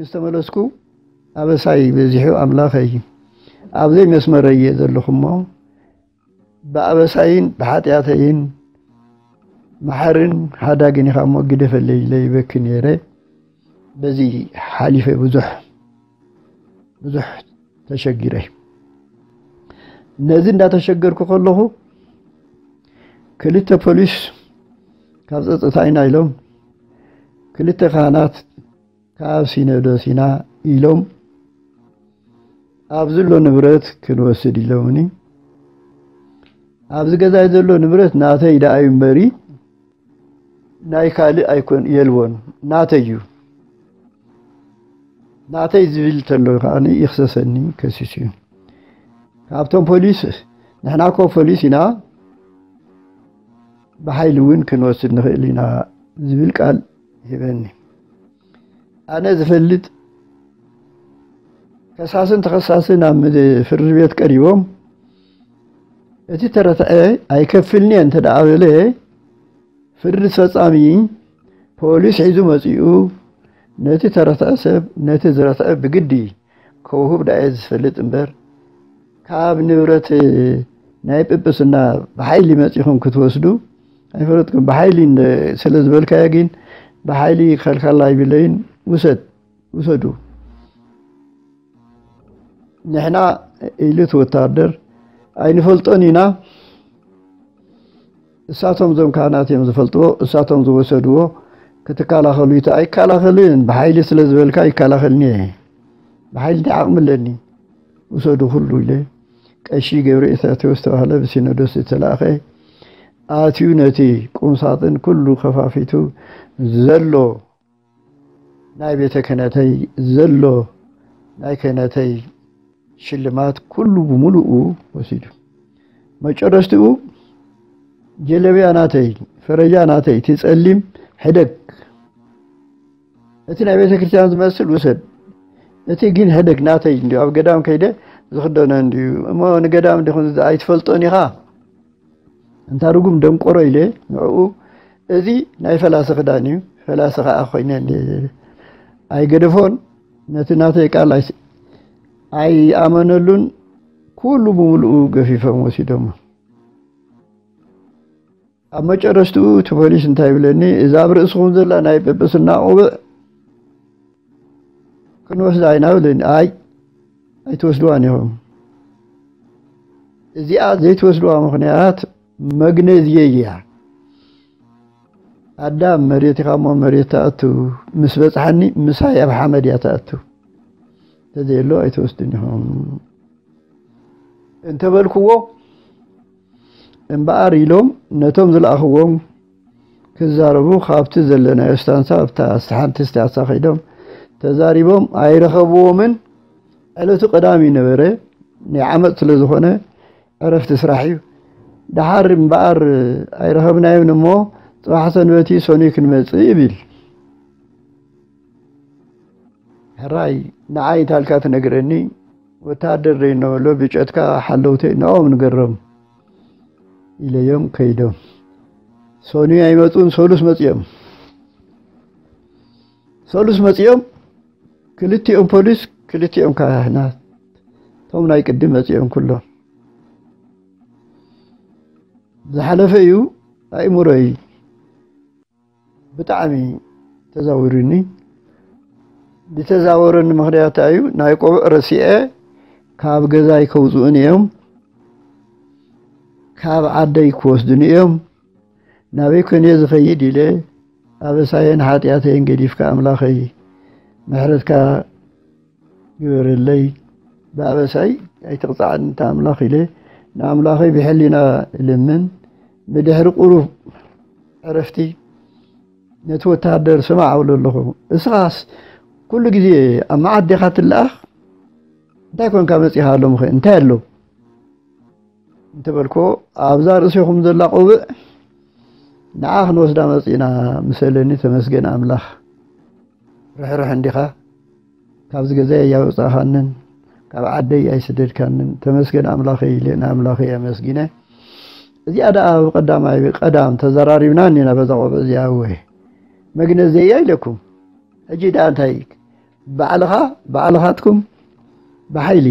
ዝተመለስኩ ኣበሳይ በዚሑ ኣምላኸይ፣ ኣብ ዘይመስመረይ እየ ዘለኹ እሞ፣ ብኣበሳይን ብሓጢኣተይን መሓርን ሓዳግን ኢኻ እሞ ግደፈለይ ኢለ ይበኪ ነይረ። በዚ ሓሊፈ ብዙሕ፣ ብዙሕ ተሸጊረ። ነዚ እንዳተሸገርኩ ከለኹ ክልተ ፖሊስ ካብ ጸጥታ ኢና ኢሎም፣ ክልተ ካህናት ካብ ሲኖዶስ ኢና ኢሎም፣ ኣብዚ ዘሎ ንብረት ክንወስድ ኢሎምኒ። ኣብዚ ገዛይ ዘሎ ንብረት ናተይ ደኣ እዩ እምበሪ ናይ ካልእ ኣይኮን የልቦን፣ ናተይ እዩ። ናተይ ዝብል ተሎ ከኣ ይኽሰሰኒ፣ ከሲሱ እዩ። ካብቶም ፖሊስ፣ ንሕና እኮ ፖሊስ ኢና፣ ብሓይሊ እውን ክንወስድ ንኽእል ኢና ዝብል ቃል ሂበኒ። ኣነ ዝፈልጥ፣ ከሳስን ተኸሳስን ኣብ ምድ-፣ ፍርዲ ቤት ቀሪቦም፣ እቲ ተረትዐ ኣይከፍልን እየ እንተ ደኣ በለ፣ ፍርዲ ፈጻሚ ፖሊስ ሒዙ መጺኡ፣ ነቲ ተረትዐ ሰብ ነቲ ዝረትዐ ብግዲ ከውህብ ደኣ እየ ዝፈልጥ እምበር፣ ካብ ንብረት ናይ ጵጵስና ብሓይሊ መጺኹም ክትወስዱ ኣይፈለጥኩም። ብሓይሊ እንደ-፣ ስለ ዝበልካዮ ግን፣ ብሓይሊ ክኸልከላ ኣይብለይን። ውሰድ፣ ውሰዱ። ንሕና፣ ኢሉ እቲ ወታደር፣ ኣይንፈልጦን ኢና። እሳቶም እዞም ካህናት እዮም ዝፈልጥዎ፣ እሳቶም ዝወሰድዎ። ክትከላኸሉ ይተ-፣ ኣይከላኸልን፣ ብሓይሊ ስለ ዝበልካ ኣይከላኸልን እየ። ብሓይሊ እንታይ ዓቕሚ ኣለኒ? ውሰዱ ኩሉ ኢለ። ቀሺ ገብረ ኢሳቴዎስ ዝተባህለ ብሲኖዶስ ዝተላእኸ ኣትዩ ነቲ ቁምሳጥን ኩሉ ከፋፊቱ ዘሎ ናይ ቤተ ክህነተይ ዘሎ ናይ ክህነተይ ሽልማት ኩሉ ብምሉኡ ወሲዱ። መጨረሽትኡ ጀለብያ ናተይ፣ ፈረጃ ናተይ፣ እቲ ጸሊም ሕደግ፣ እቲ ናይ ቤተ ክርስቲያን ዝመስል ውሰድ፣ እቲ ግን ሕደግ ናተይ እንዲዩ፣ ኣብ ገዳም ከይደ ዝኽደኖ እንዲዩ። እሞ ንገዳም እንዲኹም ኣይትፈልጦን ኢኻ? እንታ ርጉም ደንቆሮ ኢለ ንዕኡ፣ እዚ ናይ ፈላሲ ክዳን እዩ፣ ፈላሲ ኸዓ ኮይነ እንደ-፣ ኣይገደፎን። ነቲ ናተይ ቃል ኣይስ-፣ ኣይኣመነሉን። ኩሉ ብምሉኡ ገፊፎም ወሲዶሞ። ኣብ መጨረሽትኡ እቲ ፖሊስ እንታይ ይብለኒ፣ "እዛ ኣብ ርእስኹም ዘላ ናይ ጵጵስና ቆብዕ ክንወስዳ ኢና" ብለኒ። ኣይ፣ ኣይትወስድዋን ኢኹም። እዚኣ ዘይትወስድዋ ምኽንያት መግነዝየይ እያ። ኣዳም መሬት ኢኻ እሞ መሬት ትኣቱ፣ ምስ በጽሓኒ ምሳይ ኣብ ሓመድ እያ ትኣቱ። እንተዘየሎ ኣይትወስድን ኢኹም እንተበልክዎ፣ እምበኣር ኢሎም ነቶም ዝለኣኽዎም ክዛረቡ ካብቲ ዘለናዮ ስታንሳ ኣብታ ሓንቲ ስታንሳ ከይዶም ተዛሪቦም ኣይረኸብዎምን። ዕለቱ ቀዳም እዩ ነበረ፣ ናይ ዓመት ስለ ዝኾነ ዕረፍቲ ስራሕ እዩ። ደሓር እምበኣር ኣይረኸብናዮን እሞ ጽባሕ ሰንበት እዩ፣ ሰኑይ ክንመጽእ ይብል። ሕራይ ንዓይ እንታልካ ትነግረኒ፣ ወተሃደር ደይ እነበሎ ብጨትካ ሓለውተይ ንኦም ንገሮም ኢለዮም ከይዶም። ሰኑይ ኣይመጹን፣ ሰሉስ መጺኦም። ሰሉስ መጺኦም፣ ክልቲኦም ፖሊስ፣ ክልቲኦም ካህናት፣ እቶም ናይ ቅድም መጺኦም ኩሎም። ዝሓለፈ እዩ ኣእምሮይ ብጣዕሚ ተዛዊሩኒ። ዝተዛወረኒ ምኽንያት እዩ፣ ናይ ቆብዕ ረሲዐ ካብ ገዛይ ከውፅኡኒ እዮም፣ ካብ ዓደይ ክወስዱኒ እዮም። ናበይ ኮን እየ ዝኸይድ ኢለ ኣበሳየን ሓጢኣተይን ገዲፍካ ኣምላኸይ ምሕረትካ ግበረለይ፣ ብኣበሳይ ኣይትቕጻዕኒ እንተ ኣምላኽ ኢለ ንኣምላኸይ ብሕሊና እልምን። ብድሕሪ ቁሩብ ዕረፍቲ ነቲ ወተሃደር ስማዕ እብሎ ኣለኹ፣ እስኻስ ኩሉ ግዜ ኣብ መዓት ዲኻ ትለኣኽ? እንታይ ኮንካ መጺኻ ሎምኸ እንታይ ኣሎ? እንተበልኮ ኣብዛ ርእሲኹም ዘላ ቆብዕ ንዓ ክንወስዳ መጺእና ምሰለኒ፣ ተመስገን ኣምላኽ። ርሕርሕ እንዲኻ፣ ካብዚ ገዛይ ኣያውጻእኻንን ካብ ዓደይ ኣይስደድካንን፣ ተመስገን ኣምላኸይ ኢለ ንኣምላኸይ ኣመስጊነ። እዚኣ ደኣ ኣብ ቀዳማይ ቀዳም ተዘራሪብና እኒና በዛ ቆብዕ እዚኣ። እወ መግነዘያ ኢለኩም። ሕጂ ደኣ እንታይ ባዕልኻ ባዕልኻትኩም ብሓይሊ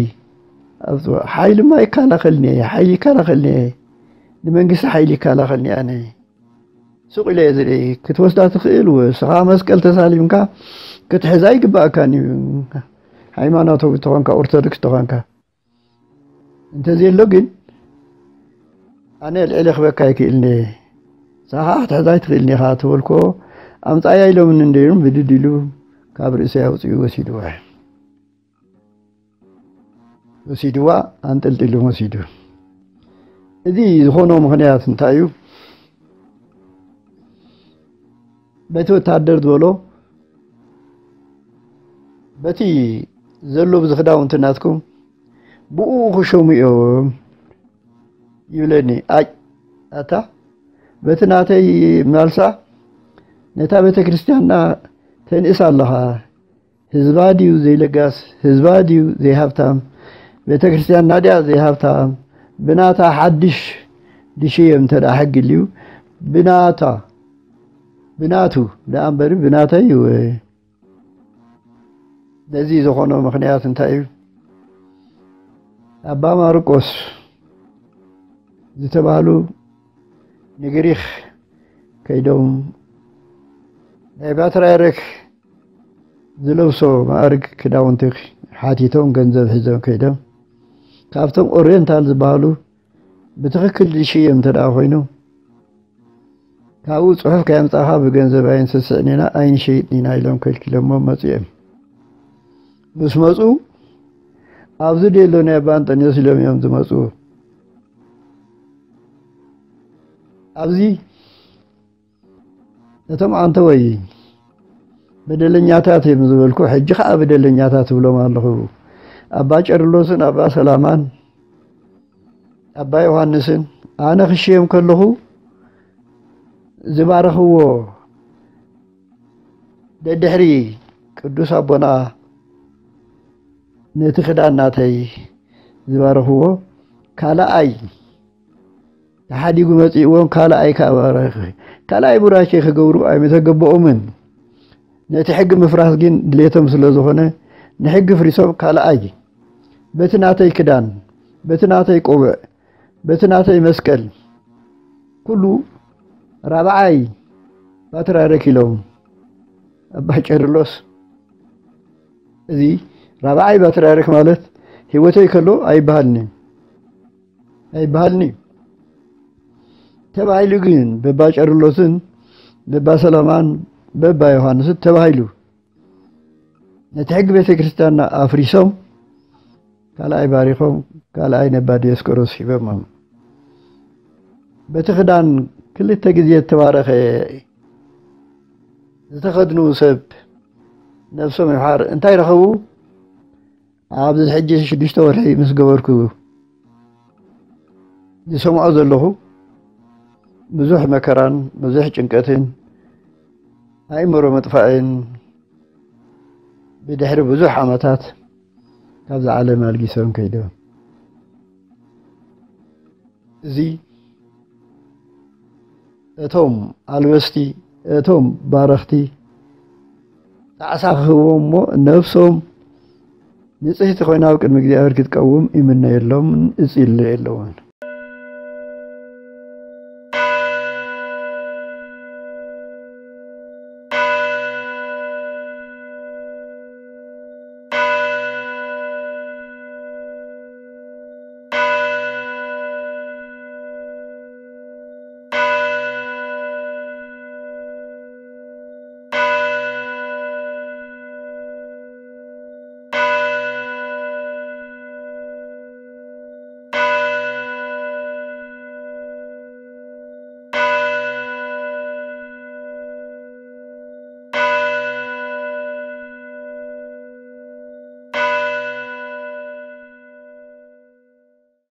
ኣብጽዎ። ሓይልማ ይከላኸልኒ እየ፣ ሓይሊ ይከላኸልኒ እየ፣ ንመንግስቲ ሓይሊ ይከላኸልኒ ኣነ። ሱቕ ኢለ እየ ዝርኢ። ክትወስዳ ትኽእል፣ ወስኻ መስቀል ተሳሊምካ ክትሕዛ ይግባእካን እዩ። ሃይማኖታዊ ተኾንካ፣ ኦርቶዶክስ ተኾንካ። እንተዘየሎ ግን ኣነ ልዕሊ ክበካ ይክእልኒ። ንስኻ ክትሕዛ ኣይትኽእልኒ ኢኻ ተበልኮ፣ ኣምጻያ ኢሎምኒ እንደይሩም ብድድ ኢሉ ካብ ርእሰይ ኣውጺኡ ወሲድዋ። ወሲድዋ፣ ኣንጠልጢሉ ወሲዱ። እዚ ዝኾኖ ምኽንያት እንታይ እዩ? በቲ ወታደር ዝበሎ፣ በቲ ዘሎ ብዚ ክዳውንቲ ናትኩም ብኡ ክሸሙ እዮም ይብለኒ። ኣይ ኣታ፣ በቲ ናተይ ማልሳ፣ ነታ ቤተ ክርስቲያንና ተንእስ ኣለኻ። ህዝባ ድዩ ዘይለጋስ? ህዝባ ድዩ ዘይሃብታም? ቤተ ክርስቲያንና ድያ ዘይሃብታም? ብናታ ሓድሽ ድሽየም እንተ ደኣ ሕጊ ልዩ፣ ብናታ፣ ብናቱ ደኣ እምበሪ ብናተይ እዩ። ነዚ ዝኾኖ ምኽንያት እንታይ እዩ? ኣባ ማርቆስ ዝተባህሉ ንግሪኽ ከይዶም፣ ናይ ፓትርያርክ ዝለብሶ ማዕርግ ክዳውንቲ ሓቲቶም፣ ገንዘብ ሒዞም ከይዶም፣ ካብቶም ኦሪየንታል ዝበሃሉ ብትኽክል ዝሽየም እንተ ደኣ ኮይኑ፣ ካብኡ ጽሑፍ ከየምጻኻ ብገንዘብ ኣይንስስዕን ኢና፣ ኣይንሸይጥን ኢና ኢሎም ከልኪሎሞ መጹ እዮም። ምስ መጹ፣ ኣብዚ ደሎ ናይ ኣባ እንጠንዮስ ኢሎም እዮም ዝመጹ። ኣብዚ ነቶም ኣንተ ወይ በደለኛታት እዮም ዝበልኩ፣ ሕጂ ኸኣ በደለኛታት እብሎም ኣለኹ። ኣባ ቄርሎስን ኣባ ሰላማን ኣባ ዮሃንስን ኣነ ክሽየም ከለኹ ዝባረኽዎ፣ ደድሕሪ ቅዱስ ኣቦና ነቲ ክዳን ናተይ ዝባረኽዎ ካልኣይ ተሓዲጉ መጺእዎም፣ ካልኣይ ከኣ ባረኸ። ካልኣይ ቡራኬ ክገብሩ ኣይምተገበኦምን። ነቲ ሕጊ ምፍራስ ግን ድሌቶም ስለ ዝኾነ፣ ንሕጊ ፍሪሶም ካልኣይ በቲ ናተይ ክዳን፣ በቲ ናተይ ቆብዕ፣ በቲ ናተይ መስቀል፣ ኩሉ ራብዓይ ፓትርያርክ ኢሎም። ኣባ ቄርሎስ፣ እዚ ራብዓይ ፓትርያርክ ማለት ህይወተይ ከሎ ኣይበሃልኒ፣ ኣይበሃልኒ ተባሂሉ ግን በባ ቄርሎስን በባ ሰላማን በባ ዮሃንስን ተባሂሉ። ነቲ ሕጊ ቤተ ክርስቲያንና ኣፍሪሶም፣ ካልኣይ ባሪኾም፣ ካልኣይ ነባ ዲዮስቆሮስ ሂቦሞም። በቲ ክዳን ክልተ ግዜ እተባረኸ ዝተኸድኑ ሰብ ነብሶም ይምሓር እንታይ ረኸቡ? ኣብዚ ሕጂ ሽዱሽተ ወርሒ ምስ ገበርኩ ዝሰምዖ ዘለኹ ብዙሕ መከራን ብዙሕ ጭንቀትን ኣእምሮ ምጥፋእን ብድሕሪ ብዙሕ ዓመታት ካብዛ ዓለም ኣልጊሶም ከይዶም። እዚ እቶም ኣልበስቲ፣ እቶም ባረኽቲ ጣዕሳ ክህብዎም እሞ ነብሶም ንጽህቲ ኮይና ኣብ ቅድሚ እግዚኣብሔር ክትቀውም ይምነየሎምን እጽልየሎምን።